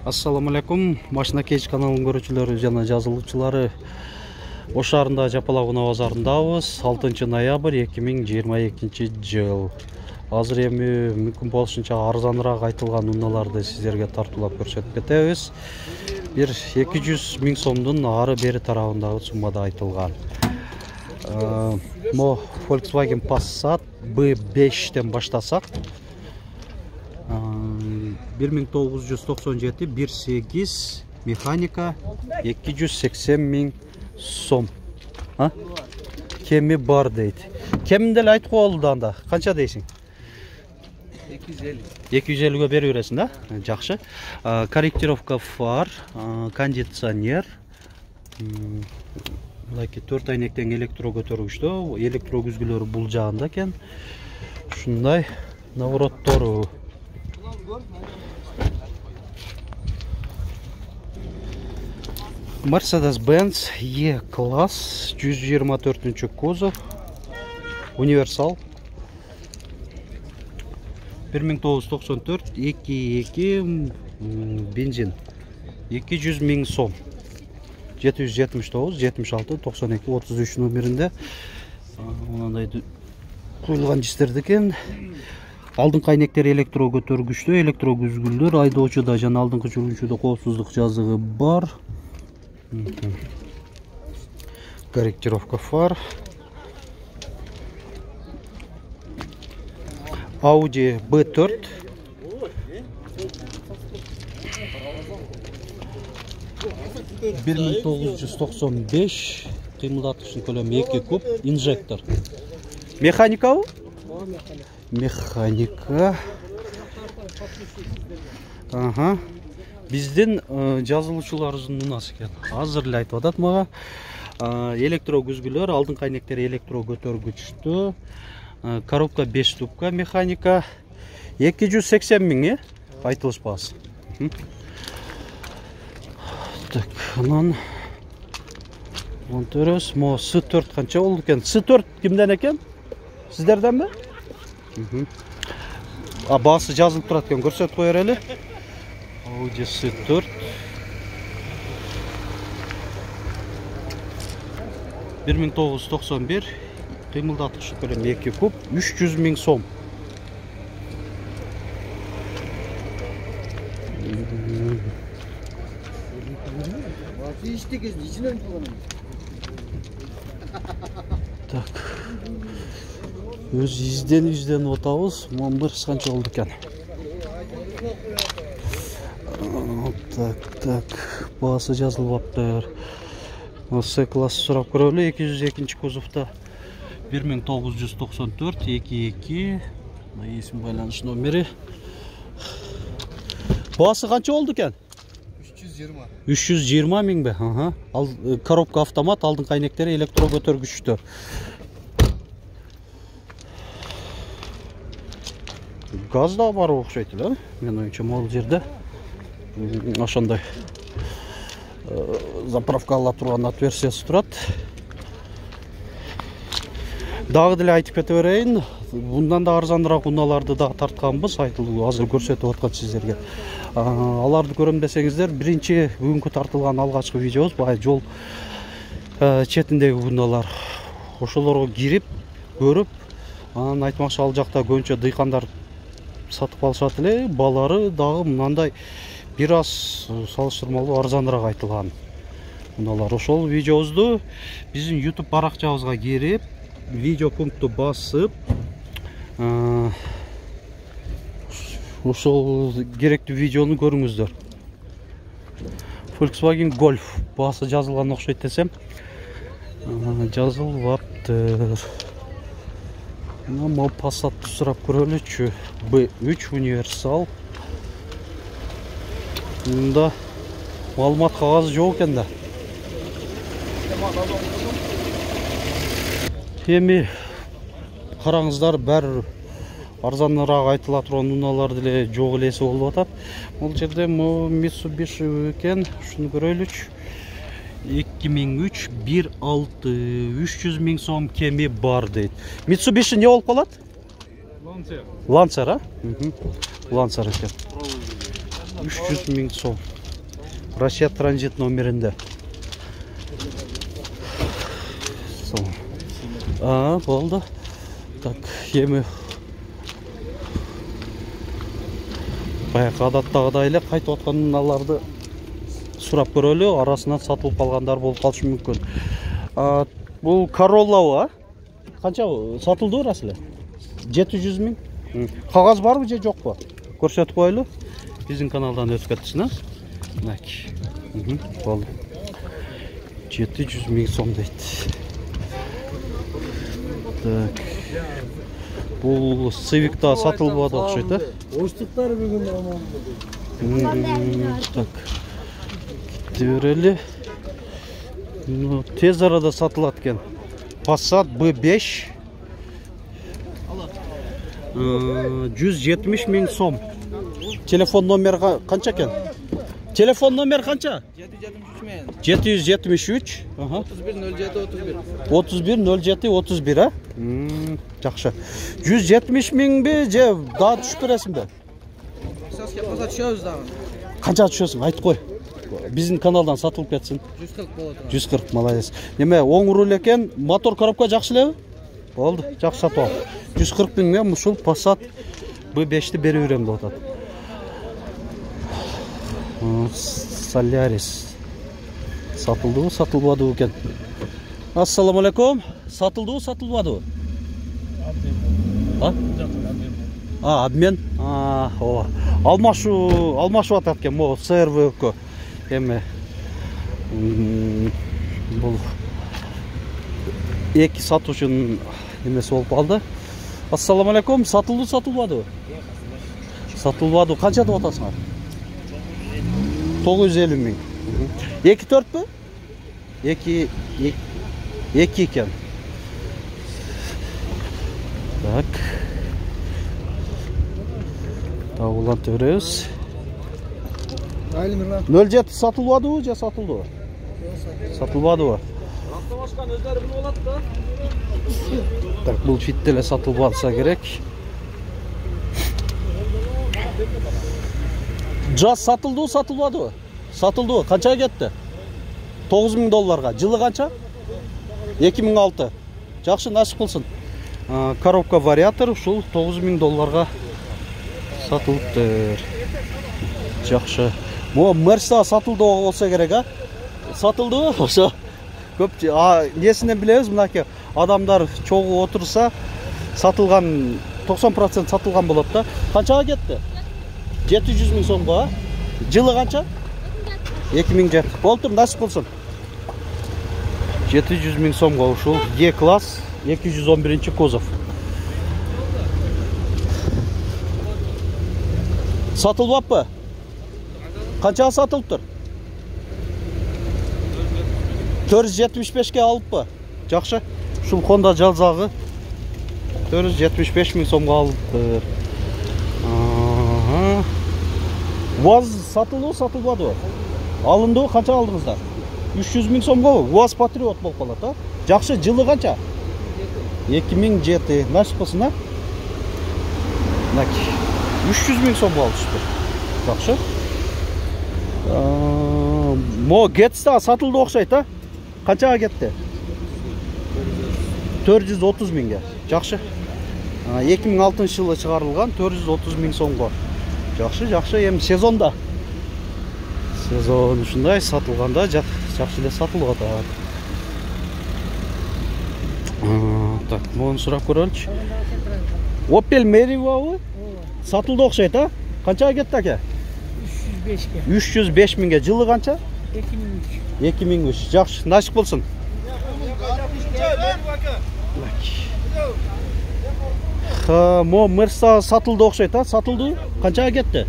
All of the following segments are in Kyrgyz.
Assalamu alaikum. Машина Кейч каналынын көрүүчүлөрү жана жазылуучулары. Ош шаарында Жапалак унаа базарындабыз. 6 ноябрь 2022 жыл. Азыр эми мүмкүн болушунча арзаныраак айтылган унааларды сиздерге тартуулап көрсөтүп кетебиз. Бир 200 000 сомдун ары бери тарабындагы суммада айтылган. Мо Volkswagen Passat B5-тен баштасак 1997 1.8 механика 280 000 сом. Кеми бар дейт. Кемин деле айтып коелду анда. Канча дейсиң? 250. 250ге берип бересиң да? Жакшы. Корректировка фар, кондиционер. Мынакей 4 айнектен электро көтөргүчтө, электро күзгүлөрү бул жагында экен. Ушундай наворотору. Mercedes-Benz E-класс 124 кузов, универсал. 1994 2.2 бензин. 200 000 сом. 779 76 92 33 номеринде мындай куюлган дистерди экен. Алдыңкы айнектер электро көтөргүчтө, электро күзгүлдөр, айдоочуда жана алдыңкы жүргүнчүдө коопсуздук жазыгы бар. Корректировка фар. Audi B4. $1995 кыймылдатыштын көлөмү 2 куб, инжектор. Механикабы? Механика. Биздин жазылуучуларыбыздын унасы экен. Азыр эле айтып атат мага. Электро күзгүлөр, алдыңкы айнектер электро көтөргүчтө, коробка 5 ступка механика. 280 000 айтылышпас. Так, анан Монтерос, мо S4 канча болду экен? S4 кимден экен? Сиздерденби? Баасы жазылып турат экен, көрсөтүп коер эле. Audi S4. $1991 кыймылдаткычы көлөмү 2 куб, 300 000 сом. Так. Өз изденип атабыз. Мамбыр канча болду экен? Так. Баасы жазылбаптыр. С-класс сурап көрөлү, 202 кузовто. 1994 22 эсим байланыш номери. Баасы канча болду экен? 320 000 бе? Коробка автомат, алдыңкы айнектери электро көтөргүчтө. Газ да бар окшойт эле. Мен оюнча могул жерде ошондой заправка ала турган отверстиясы турат. Дагы деле айтып кете берейин, bundan да арзаныраак унааларды да тартканбыз, айтылды, азыр көрсөтүп аткан сиздерге. Аларды көрөм десеңиздер, биринчи бүгүнкү тартылган алгачкы видеобуз бай жол четиндеги унаалар. Ошолорго кирип, көрүп, анан айтмакчы ал жакта көбүнчө дыйкандар сатып алышат эле, балары дагы мындай бир аз салыштырмалуу арзаныраак айтылган унаалар. Ошол видеобузду биздин YouTube баракчабызга кирип, видео пунктту басып, ошол керектүү видеону көрүңүздөр. Volkswagen Golf баасы жазылган окшойт десем, жазылбаптыр. Мо Passat'ты сурап көрөлүчү. B3 универсал. Мында маалымат кагазы жок экен да. Эми караңыздар, бир арзаныраак айтыла турган унаалар деле жок элеси болуп атат. Бул жерде Mitsubishi экен, ушуну көрөлүчү. 2003 1.6 300 000 сом кеми бар дейт. Mitsubishi не болуп калат? Lancer, а? Lancer экен. 300 000 сом. Россия транзит номеринде. Болду. Так, эми баягы адаттагыдай эле кайтып атканаларды сурап көрөлү. Арасынан сатылып калгандар болуп калышы мүмкүн. Бул Corolla, а? Канча сатылды рас эле? 700 миң. Кагаз барбы же жокпу? Көрсөтүп коелу. Биздин каналдан өтүп кетсин, а? Мынакей. Болду. 700 миң сом дейт. Так. Бул Civic'та сатылбады окшойт, а? Оштуктар бүгүн аман. Так. Кетти тез арада сатылат экен. Passat B5. 170 миң сом. Телефон номер канча экен? Телефон номер канча? 773. 310731. А? Жакшы. 170 миңби же дагы түшүп бересиңби? Саске коза түшөбүз дагы. Канча түшөсүң? Айтып кой. Биздин каналдан сатылып кетсин. 140 болот. 140, молодец. Неме, оң руль экен, мотор коробка жакшы элеби? Болду, жакшы сатып ал. 140 миң мен ушул Passat B5-ти берип берем деп атат. Solaris. Сатылдыбы, сатылбадыбы экен? Ассаламу алейкум. Сатылдыбы, сатылбадыбы? Обмен. Алмашып атат экен, могу CRV-кө. Эме бул эки сатуучунун эмеси болуп калды. Ассаламу алейкум, сатылды, сатылбадыбы? Сатылбады. Канча деп атасыңар? 950 миң. 2-4пү? 2 экен. Так. Улантып беребиз. 07 сатылбадыбы же сатылдыбы? Сатылбадыбы? Автомашканы өздөрү билип алат да. Так, бул фитте эле сатылбалса керек. Жаз сатылдыбы, сатылбадыбы? Сатылдыбы. Канчага кетти? $9000. Жылы канча? 2006. Жакшы, насип кылсын. Коробка вариатор ушул $9000 сатылыптыр. Жакшы. Мо Mercedes сатылды болсо керек, а? Сатылдыбы? Ошо көп несинен билебиз, мынакей адамдар чогуу отурса сатылган 90% сатылган болот да. Канчага кетти? 700 миң сомго, а? Жылы канча? 2007. Болтур, насип кылсын. 700 миң сомго ушул E-класс 211 кузов. Сатылбаппы? Канчага сатылыптыр? 475ке алыппы? Жакшы. Ушул Honda жалзагы 475 миң сомго алыптыр. УАЗ сатылды, сатылбадыбы? Алындыбы, канча алдыңыздар? 300 миң сомго УАЗ Патриот болуп калат, а? Жакшы, жылы канча? 2007. Насип кылсын, а? 300 миң сомго алышты. Жакшы. Мо Getsta сатылды окшойт, а? Канчага кетти? 430 миңге. Жакшы. 2006 жылы чыгарылган 430 миң сомго. Жакшы, жакшы. Эми сезонда. Сезон ушундай сатылганда жакшы эле сатылып атат. Так, муну сурап көрөлүчү. Opel Meriva сатылды окшойт, а? Канчага кетти аке? 305 миңге. Жылы канча? 2003. Жакшы, насип болсун. Мо Mercedes сатылды окшойт, а? Сатылды? Канчага кетти?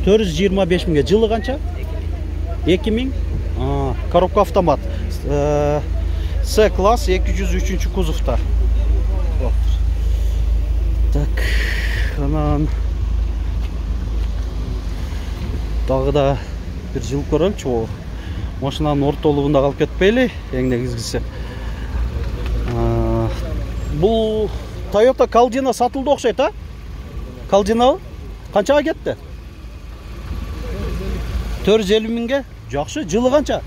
425 миңге. Жылы канча? 2000. Коробка автомат. C-класс 203 кузовта. Так, анан дагы да бир жыл көрөлүчү. Машинанын ортолугунда калып кетпейли, эң негизгиси. Бул Toyota Caldina сатылды окшойт, а? Caldina канчага кетти? 450 миңге. Жакшы, жылы канча?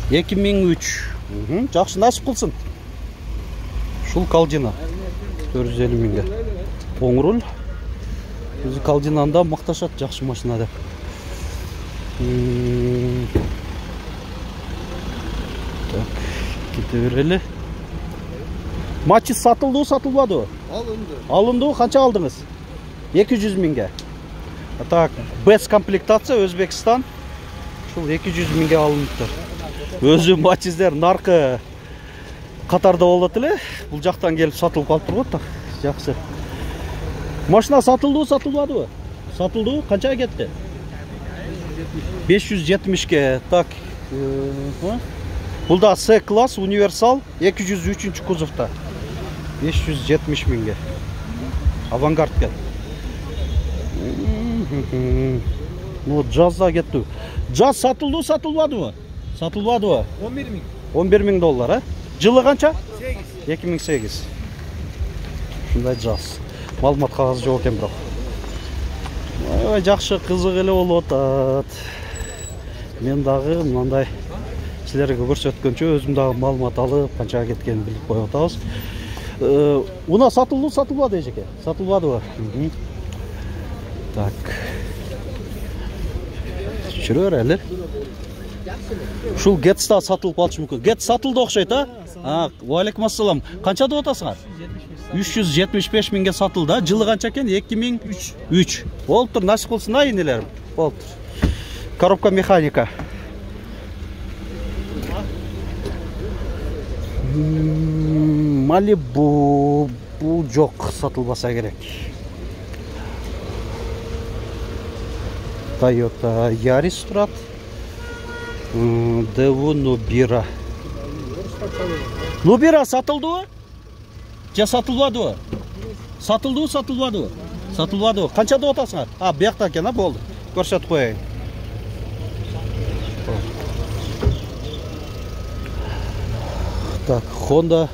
2003. Жакшы, насип кылсын. Ушул Калдина 450 миңге. Оң руль. Өзү Калдинанда макташат, жакшы машина деп. Так, кете берели. Матчис сатылды, сатылбады? Алынды, канча алдыңыз? 200 миңге. Так, без комплектация Өзбекстан. Ушул 200 миңге алыныптыр. Өзү матчиздер наркы катарда болот эле. Бул жактан келип сатылып калып турат. Так, жакшы. Машина сатылды, сатылбады? Сатылды, канчага кетти? 570ке. Так, бул да С класс универсал 203 кузовта. 570 миңге. Авангард кен. Ну, жазда кетти. Жаз сатылды, сатылбадыбы? Сатылбадыбы? 11 миң. 11 миң доллар, а? Жылы канча? 8. 2008. Ушундай жаз. Маалымат кагазы жок экен бирок. Аябай жакшы, кызык эле болуп атат. Мен дагы мындай силерге көрсөткөнчө өзүм дагы маалымат алып, канчага кеткенин билип коюп атабыз. Уна сатылды, сатылбады эжеке? Сатылбадыбы? Так. Жүрөр эле. Ушул Гетс да сатылып калышы мүмкүн. Гетс сатылды окшойт, а? Алейкум ассалам. Канча деп атасыңар? 375 миңге сатылды. Жылы канча экен? 2003. Болуптур, насип кылсын а энелерим. Болуптур. Коробка механика. Малибу бул жок, сатылбаса керек. Toyota Yaris турат. Devu Nubira. Nubira сатылдыбы? Же сатылбадыбы? Сатылдыбы, сатылбадыбы? Сатылбадыбы. Канча деп атасыңар? А, бuyakta экен, болду. Көрсөтүп коеюн. Так, Honda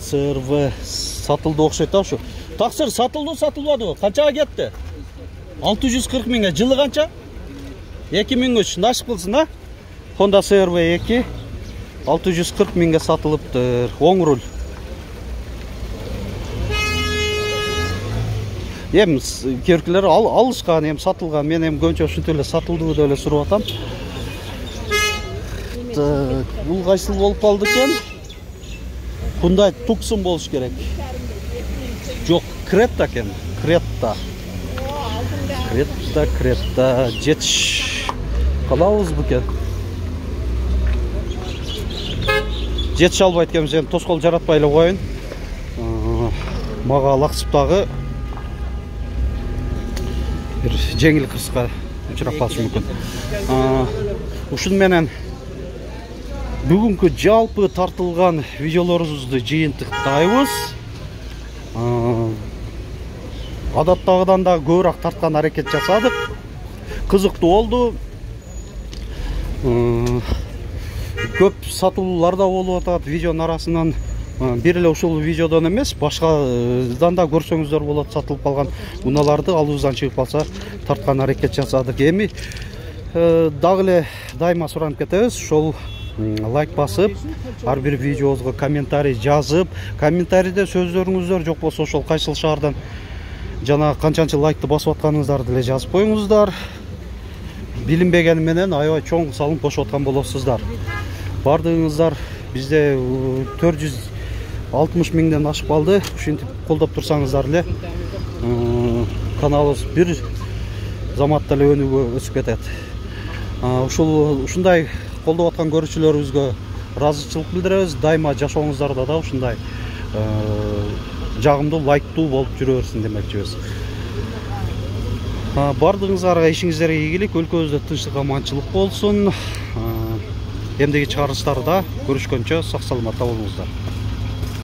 CR-V сатылды окшойт ушу. Таксыр сатылды, сатылбадыбы? Канчага кетти? 640 миңге. Жылы канча? 2003. Насип кылсын, а? Honda CR-V 2 640 миңге сатылыптыр. Оң руль. Эм керкилер алышкан, эм сатылган. Мен эм көбүнчө ушинтип эле сатылдыбы деп эле сурап атам. Так, бул кайсыл болуп калды экен? Мындай Tucson болуш керек. Жок, Creta экен. Creta. Creta. Жетиш. Калабызбы экен? Жетиш албайт экенбиз, эми тоскоол жаратпай эле коеюн. Мага лаксыптагы бир жеңил кырсыкка учурап калышы мүмкүн. Ушун менен бүгүнкү жалпы тартылган видеолорубузду жыйынтыктайбыз. Адаттагыдан да көбүрөөк тарткан аракет жасадык. Кызыктуу болду. Көп сатуулар да болуп атат видеонун арасынан. Бир эле ушул видеодон эмес, башкадан да көрсөңүздөр болот. Сатылып калган унааларды алыбыздан чыгып калса тарткан аракет жасадык. Эми дагы эле дайыма суранып кетебиз. Ошол лайк басып, ар бир видеобузга комментарий жазып, комментарийде сөздөрүңүздөр жок болсо ошол кайсыл шаардан жана канчанчы лайкты басып атканыңыздарды эле жазып коюңуздар. Билинбегени менен аябай чоң салынып кошуп аткан болосуздар. Бардыгыңыздар бизде 460 миңден ашып калды. Ушинтип колдоп турсаңыздар эле каналыбыз бир заматта эле өнүгүп өсүп кетет. Ушундай колдоп аткан көрүүчүлөрүбүзгө ыраазычылык билдиребиз. Дайыма жашооңуздарда да ушундай жагымдуу, лайктуу болуп жүрө берсин демекчибиз. Бардыгыңыздарга ишиңиздерге ийгилик, өлкөбүздө тынчтык, аманчылык болсун. Эмдеги чыгарылыштарда көрүшкөнчө сак саламатта болуңуздар.